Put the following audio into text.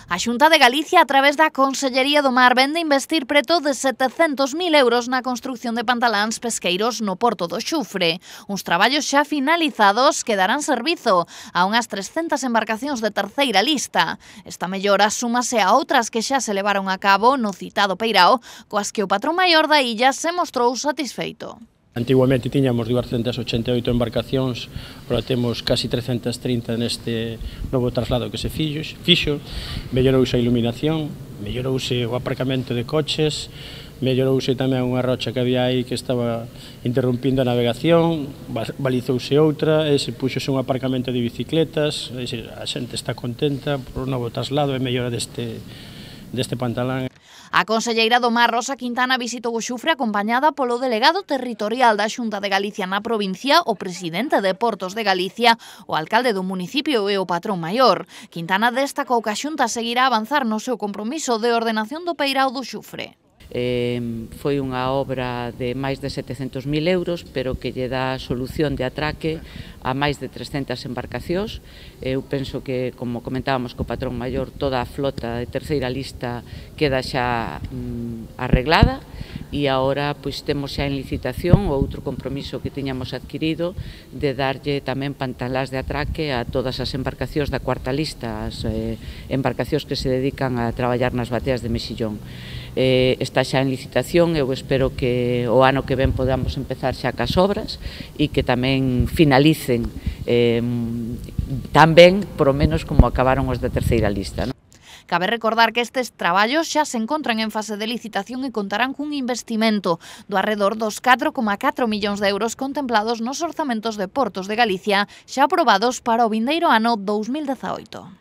A Xunta de Galicia, a través da Consellería do Mar, vende investir preto de 700.000 euros na construción de pantaláns pesqueiros no Porto do Xufre. Uns traballos xa finalizados que darán servizo a unhas 300 embarcacións de terceira lista. Esta mellora súmase a outras que xa se levaron a cabo no citado Peirao, coas que o patrón maior da illa se mostrou satisfeito. Antiguamente tiñamos 288 embarcacións, agora temos casi 330 neste novo traslado que se fixo, mellorouse a iluminación, mellorouse o aparcamento de coches, mellorouse tamén unha rocha que había aí que estaba interrompindo a navegación, balizouse outra, e se puxose un aparcamento de bicicletas, a xente está contenta por o novo traslado e mellora deste pantalán. A conselleira do Mar, Rosa Quintana, visitou o Xufre acompañada polo delegado territorial da Xunta de Galicia na provincia, o presidente de Portos de Galicia, o alcalde do municipio e o patrón maior. Quintana destacou que a Xunta seguirá a avanzar no seu compromiso de ordenación do Peirao do Xufre. Foi unha obra de máis de 700.000 euros, pero que lle dá solución de atraque a máis de 300 embarcacións. Eu penso que, como comentábamos co patrón maior, toda a flota de terceira lista queda xa arreglada, e agora pois temos xa en licitación o outro compromiso que tiñamos adquirido de darlle tamén pantaláns de atraque a todas as embarcacións da cuarta lista, as embarcacións que se dedican a traballar nas bateas de mexillón. Está xa en licitación, eu espero que o ano que ven podamos empezar xa cas obras e que tamén finalicen tan ben, por o menos, como acabaron os da terceira lista. Cabe recordar que estes traballos xa se encontran en fase de licitación e contarán cun investimento do arredor dos 4,4 millóns de euros contemplados nos orzamentos de Portos de Galicia xa aprobados para o vindeiro ano 2018.